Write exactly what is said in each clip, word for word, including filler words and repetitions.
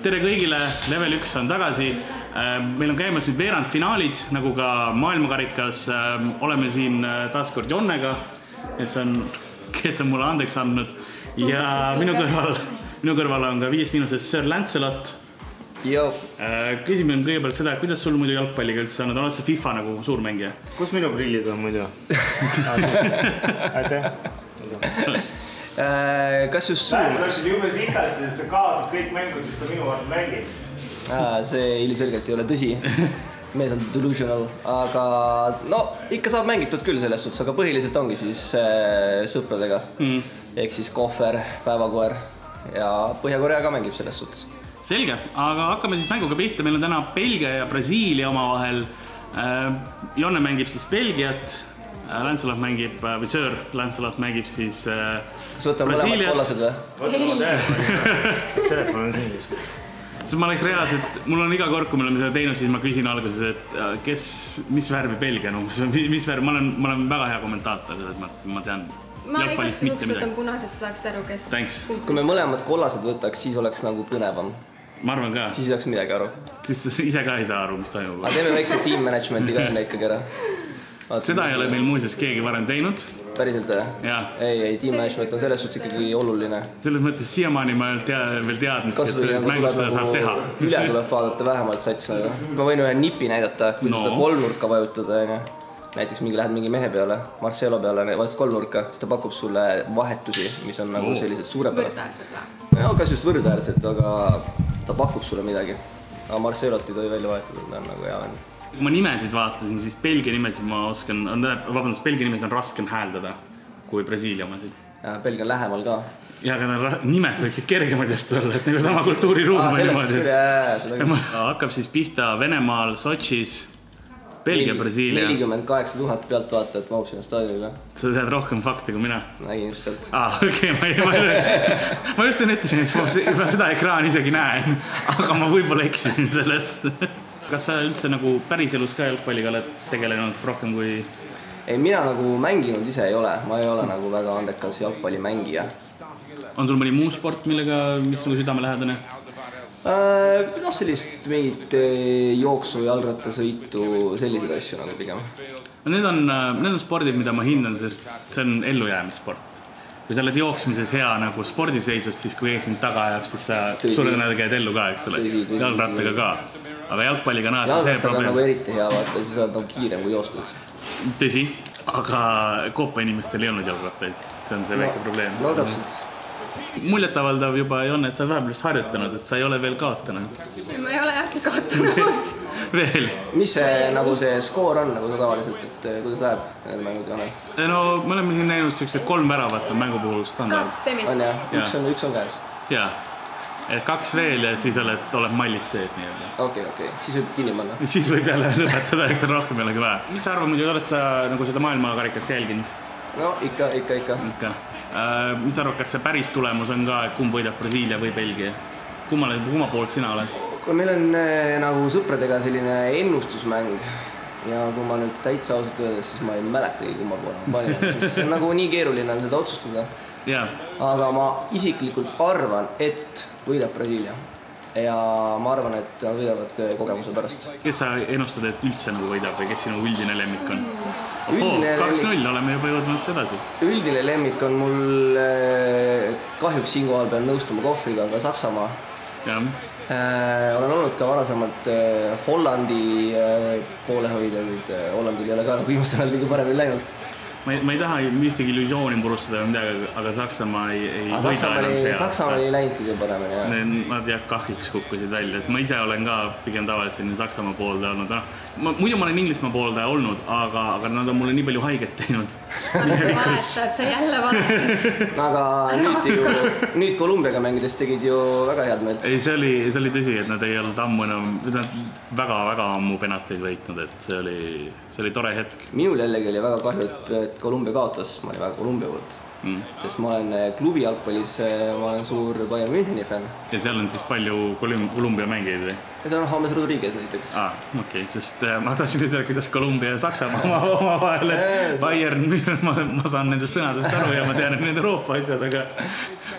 tere kõigile, Level üks on tagasi. Meil on käimas nüüd veerandfinaalid, nagu ka maailmakarikas. Oleme siin taaskord Jonnega, kes on, kes on mulle andeks andnud. Ja minu kõrval, minu kõrval on ka viis miinuses Sir Lancelot. Jo. Küsime kõigepealt seda, kuidas sul muidu jalgpalliga üldse on? Oled see FIFA nagu suur mängija? Kus minu prillid on muidu? Aitäh. Kas just sul? Lähes läksid jume sitasti, sest ta kaotab kõik mängud, sest ta minu vastu mängib. See ilmselgelt ei ole tõsi. Mees on delusional, aga no ikka saab mängitud küll selles suhtes, aga põhiliselt ongi siis sõpradega. Mm. Ehk siis kohver, päevakoer ja Põhja-Korea ka mängib selles suhtes. Selge, aga hakkame siis mänguga pihta. Meil on täna Belgia ja Brasiilia omavahel. Jonne mängib siis Belgiat, Lancelot mängib, või Sir Lancelot mängib siis kas võtame mõlemad kollased või? Võtame oma telefoni. Telefon on siin siis. Siis ma oleks reaalselt, mul on iga kord, kui me oleme seda teinud, siis ma küsin alguses, et kes, mis värvi Belgia on umbes, mis värvi, ma olen, ma olen väga hea kommentaator, selles mõttes, ma tean ma igaks juhuks võtan punased, sa saaksid aru, kes... Thanks. Kui me mõlemad kollased võtaks, siis oleks nagu põnevam. Ma arvan ka. Siis ei saaks midagi aru. Siis ise ka ei saa aru, mis toimub. Aga teeme väikse team managementi ka enne ikkagi ära. Seda ei ole meil muuseas keegi varem teinud. Päriselt või? Ei, ei, team management on selles suhtes ikkagi oluline. Selles mõttes siiamaani ma ei veel teadnud, et selles mängus seda saab teha. Üle tuleb vaadata vähemalt sats. Ma võin ühe nipi näidata, kui no. Seda kolmnurka vajutada. Näiteks mingi lähed mingi mehe peale, Marcelo peale, vajutad kolmnurka, siis ta pakub sulle vahetusi, mis on nagu sellised suurepärased. Võrdväärsed või? No, kas just võrdväärsed, aga ta pakub sulle midagi. Aga Marcelot ei tohi välja vahetada, ta on nagu hea vend. Kui ma nimesid vaatasin, siis Belgia nimesid ma oskan, vabandust, Belgia nimesid on raskem hääldada kui Brasiilia omasid. Ja, Belgia on lähemal ka. Ja, aga nimed võiksid kergemad just olla, et nagu sama kultuuriruum on niimoodi. Hakkab siis pihta Venemaal, Sotšis, Belgia, Brasiilia. nelikümmend kaheksa tuhat pealt vaatajat mahub sinna staadionile. Sa tead rohkem fakte kui mina? Nägin just sealt. Ah, okei, okay, ma, ma, ma just ennetasin, et ma seda ekraani isegi näen, aga ma võib-olla eksisin sellest. Kas sa üldse nagu päriselus ka jalgpalliga oled tegelenud rohkem kui... Ei, mina nagu mänginud ise ei ole. Ma ei ole nagu väga andekas jalgpallimängija. On sul mõni muu sport, millega, mis nagu südame lähedane? No sellist mingit jooksu, jalgrattasõitu, selliseid asju nagu pigem. Need on, need on spordid, mida ma hindan, sest see on ellujäämissport. Kui sa oled jooksmises hea nagu spordiseisust, siis kui ees sind taga ajab, siis sa sulle näed käid ellu ka, eks ole. Jalgrattaga ka. Aga jalgpalliga näed see probleem. Jalgrattaga on nagu eriti hea vaata, siis oled nagu kiirem kui jooskmis. Tõsi, aga Koopa inimestel ei olnud jalgrattaid. See on see väike probleem. No täpselt. Muljetavaldav juba ei on, et sa vahepeal harjutanud, et sa ei ole veel kaotanud. Ma ei ole äkki kaotanud. Veel? Mis see, nagu see skoor on nagu tavaliselt, et kuidas läheb need mängud joone? No me oleme siin näinud sellised kolm väravat on mängu puhul standard. On jah, üks on, üks on käes. Jaa, et kaks veel ja siis oled, oled mallis sees nii-öelda. Okei, okei, siis võib kinni panna. Siis võib jälle lõpetada, eks on rohkem jällegi vaja. Mis sa arvad, muidu oled sa nagu seda maailmakarikat jälginud? No ikka, ikka, ikka. Ikka. Mis sa arvad, kas see päris tulemus on ka, kumb võidab Brasiilia või Belgia? Kummale, kumma poolt sina oled? Kui meil on nagu sõpradega selline ennustusmäng ja kui ma nüüd täitsa ausalt öeldes, siis ma ei mäletagi kumma poole ma panin, sest see on nagu nii keeruline on seda otsustada. Yeah. Aga ma isiklikult arvan, et võidab Brasiilia. Ja ma arvan, et nad võidavad kogemuse pärast. Kes sa ennustad, et üldse nagu võidab või kes sinu üldine lemmik on? Ohoo, kaks null, oleme juba jõudmas edasi. Üldine lemmik on mul kahjuks siin kohal peal nõustuma kohvriga, aga Saksamaa. Ja. Olen olnud ka varasemalt Hollandi poolehoidjaid. Hollandil ei ole ka nagu viimasel ajal kõige paremini läinud. Ma ei, ma ei taha ühtegi illusiooni purustada või midagi, aga Saksamaa ei, ei aga võida enam see aasta. Saksamaa ei läinud kõige paremini, jah. Nad jah kahjuks kukkusid välja. Et ma ise olen ka pigem tavaliselt selline Saksamaa pooldaja olnud. No, muidu ma olen Inglismaa pooldaja olnud, aga, aga nad on mulle nii palju haiget teinud. Aga sa vahetad, sa jälle vahetad. Aga nüüd, ju, nüüd Kolumbiaga mängides tegid ju väga head meelt. Ei, see oli, see oli tõsi, et nad ei olnud ammu enam, nad väga, väga ammu penalteid võitnud, et see oli, see oli tore hetk. Minul jällegi oli väga kahju, et Kolumbia kaotas, ma olin väga Kolumbia poolt. mm. sest ma olen klubi jalgpallis, ma olen suur Bayern Müncheni fänn. Ja seal on siis palju Kolumbia mängijaid või? Ja seal on James Rodriguez näiteks. Ah, okei, okay. Sest ma tahtsin ütelda, kuidas Kolumbia ja Saksamaa oma, oma vahel, et Bayern, ma, ma saan nendest sõnadest aru ja ma tean, et need Euroopa asjad, aga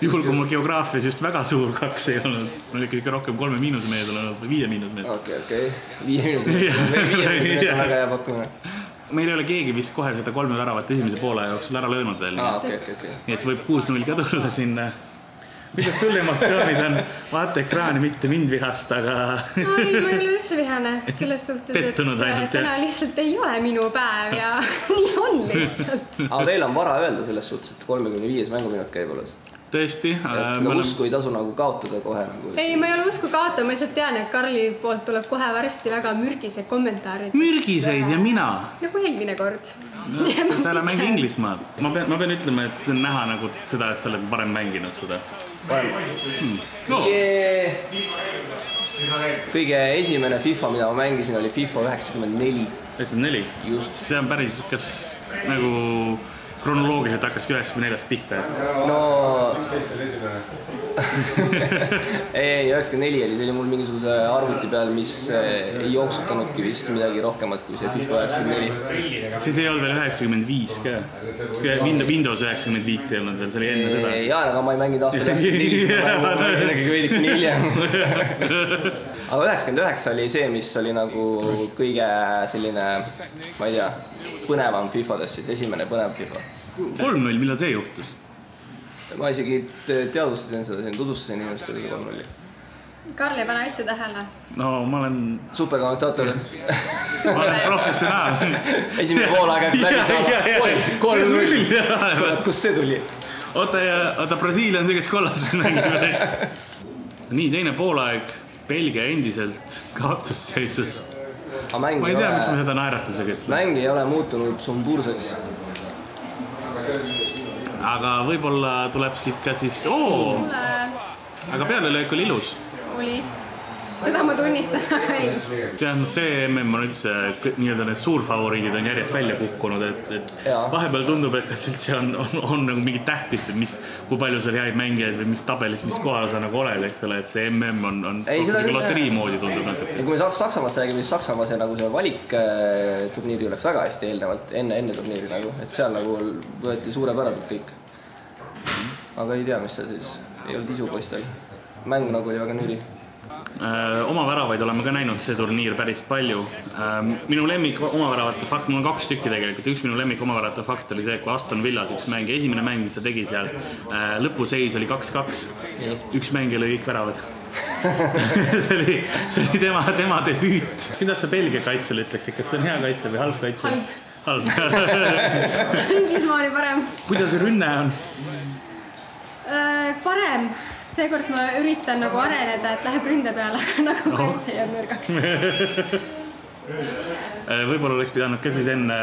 juhul, kui mul geograafias just väga suur kaks ei olnud, mul ikka rohkem kolme miinuse mehed olnud või viie miinuse mehed. Okei, okei, viie miinuse mehed, viie miinuse mehed on väga hea pakkumine. Meil ei ole keegi vist kohe seda kolme väravat esimese poole jooksul ära löönud veel. Ah, okay, okay, okay. Nii et võib kuus null ka tulla sinna. Kuidas sul emotsioonid on? Vaata ekraani, mitte mind vihast, aga... Ai, ma ei ole üldse vihane selles suhtes, Pettunud et ainult, täna lihtsalt ei ole minu päev ja nii on lihtsalt. Aga veel on vara öelda selles suhtes, et kolmekümne viies mänguminut käib alles. Tõesti. Seda usku ei tasu nagu kaotada kohe. Nagu... Ei, ma ei ole usku kaotada, ma lihtsalt tean, et Karli poolt tuleb kohe varsti väga mürgised kommentaarid. Mürgiseid ja mina? Nagu eelmine kord. No, sest ära mängi Inglismaad. Ma pean, ma pean ütlema, et näha nagu seda, et sa oled varem mänginud seda. Hmm. No. Kõige esimene FIFA, mida ma mängisin, oli FIFA üheksakümmend neli. üheksakümmend neli? Just. See on päris, kas nagu... kronoloogiliselt hakkaski üheksakümmend neljast pihta. No... ei, üheksakümmend neli oli, see oli mul mingisuguse arvuti peal, mis ei jooksutanudki vist midagi rohkemat kui see FIFA üheksakümmend neli. Siis ei olnud veel üheksakümmend viis ka. Windows üheksakümmend viis ei olnud veel, see oli enne seda. Jaa, aga ma ei mänginud aastal üheksakümmend neli, ma mängisin ikkagi veidikene hiljem. Aga üheksakümmend üheksa oli see, mis oli nagu kõige selline, ma ei tea, põnevam FIFAdest, esimene põnev FIFA. kolm null, millal see juhtus? Ma isegi teadvustasin seda, siin tutvustasin inimestele see kolm null. Karl ei pane asju tähele. No ma olen... Superkommentaator. Ma olen professionaal. Esimene poolaeg äkki läbi saada. Oi, kolm null. Kust see tuli? Oota, oota, Brasiilia on see, kes kollases mängib. Nii, teine poolaeg. Belgia endiselt kaotusseisus. Ma ei tea, miks ma seda naeratusega ütleb. Mäng ei ole muutunud sumbuurseks. Aga võib-olla tuleb siit ka siis... Oo! Aga pealelöök oli ilus. Oli. Seda ma tunnistan, aga ei. Tead, see M M on üldse, nii-öelda need suurfavoriidid on järjest välja kukkunud, et, et vahepeal tundub, et kas üldse on, on, on nagu mingi tähtist, et mis, kui palju sul häid mängijaid või mis tabelis, mis kohal sa nagu oled, eks ole, et see M M on, on ei, loterii moodi tundub natuke. Ja kui me Saksamaast räägime, siis Saksamaa see, nagu see valik turniiri oleks väga hästi eelnevalt, enne, enne turniiri nagu, et seal nagu võeti suurepäraselt kõik. Aga ei tea, mis see siis, ei olnud isu poistel. Mäng nagu oli väga nüri. Oma väravaid oleme ka näinud see turniir päris palju. Minu lemmik oma väravate fakt, mul on kaks tükki tegelikult. Üks minu lemmik oma väravate fakt oli see, kui Aston Villas üks mäng, esimene mäng, mis ta tegi seal, lõpuseis oli kaks kaks. Üks mäng lõi kõik väravad. see, oli, see oli tema, tema debüüt. Kuidas sa Belgia kaitsel ütleksid? Kas see on hea kaitsel või halb kaitsel? Halb. See on Inglismaa oli parem. Kuidas rünne on? Parem. Seekord ma üritan nagu areneda, et läheb ründe peale, aga nagu no. Kaitse jääb nõrgaks. Võib-olla oleks pidanud ka siis enne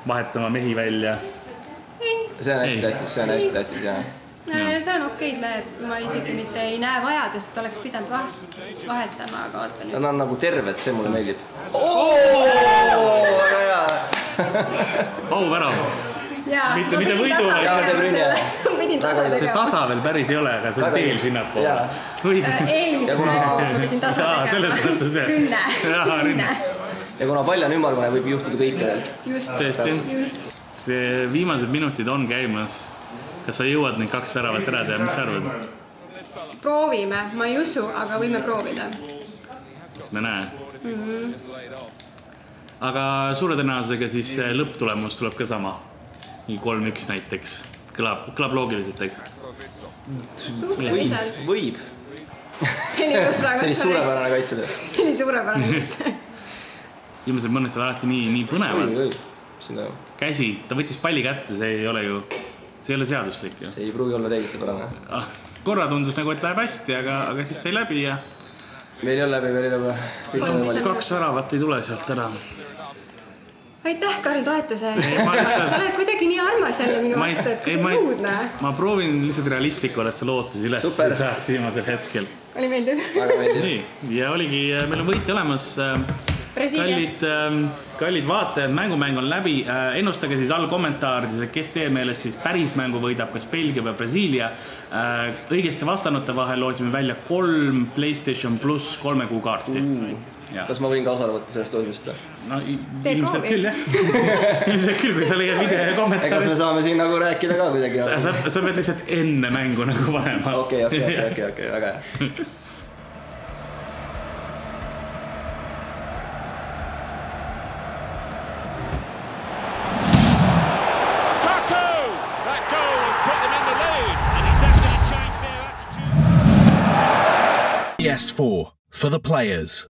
vahetama mehi välja. Ei. See on hästi tähtis, see on hästi tähtis, jah. See on okeid mehed, ma isegi mitte ei näe vajadust, et oleks pidanud vahetama, aga oota nüüd. Nad on nagu terved, see mulle meeldib. Ooo, väga hea. Au värav. Jaa, mitte, ma mitte pidin võidu, tasa, pidin tasa tegema. Tasa veel päris ei ole, aga see on teel sinnapoole. Eelmise kuna... ma pidin tasa tegema. Rünne. Rünne. Ja kuna palju on ümmargune, võib juhtuda kõikidel. Just. Just. See viimased minutid on käimas. Kas sa jõuad neid kaks väravat ära teha, mis sa arvad? Proovime, ma ei usu, aga võime proovida. Kas me näe? Mm-hmm. Aga suure tõenäosusega siis lõpptulemus tuleb ka sama. kolm üks näiteks. Kõlab, kõlab loogiliselt tekst. Suhteliselt. Võib. See oli suurepärane kaitse. See oli suurepärane kaitse. Viimased mõned on alati nii, nii põnevad. Või, või. Käsi, ta võttis palli kätte, see ei ole ju, see ei ole seaduslik. See ei pruugi olla reeglite pärane. Ah, korra tundus nagu, et läheb hästi, aga, aga siis sai läbi ja... Veel ei ole läbi, veel ei ole. Kaks väravat ei tule sealt ära. Aitäh, Karl, toetuse. Sa oled kuidagi nii armas jälle minu vastu, et kuidagi uudne. Ma proovin lihtsalt realistlik olla, et sa lootus üles saaks viimasel hetkel. Oli meeldib. Väga meeldib. Nii, ja oligi, meil on võitja olemas. kallid, kallid vaatajad, mängumäng on läbi. Ennustage siis all kommentaarides, kes teie meelest siis päris mängu võidab, kas Belgia või Brasiilia. Õigesti vastanute vahel loosime välja kolm PlayStation pluss kolme kuu kaarti. Ja. Kas ma võin ka osale võtta sellest loosmist? No ilmselt küll, jah. Ilmselt küll, kui sa leiad video ja kommentaari. Egas me saame siin nagu rääkida ka kuidagi. Sa, sa pead lihtsalt enne mängu nagu panema. Okei, okei, okei, okei, okei, väga hea. P S four for the players.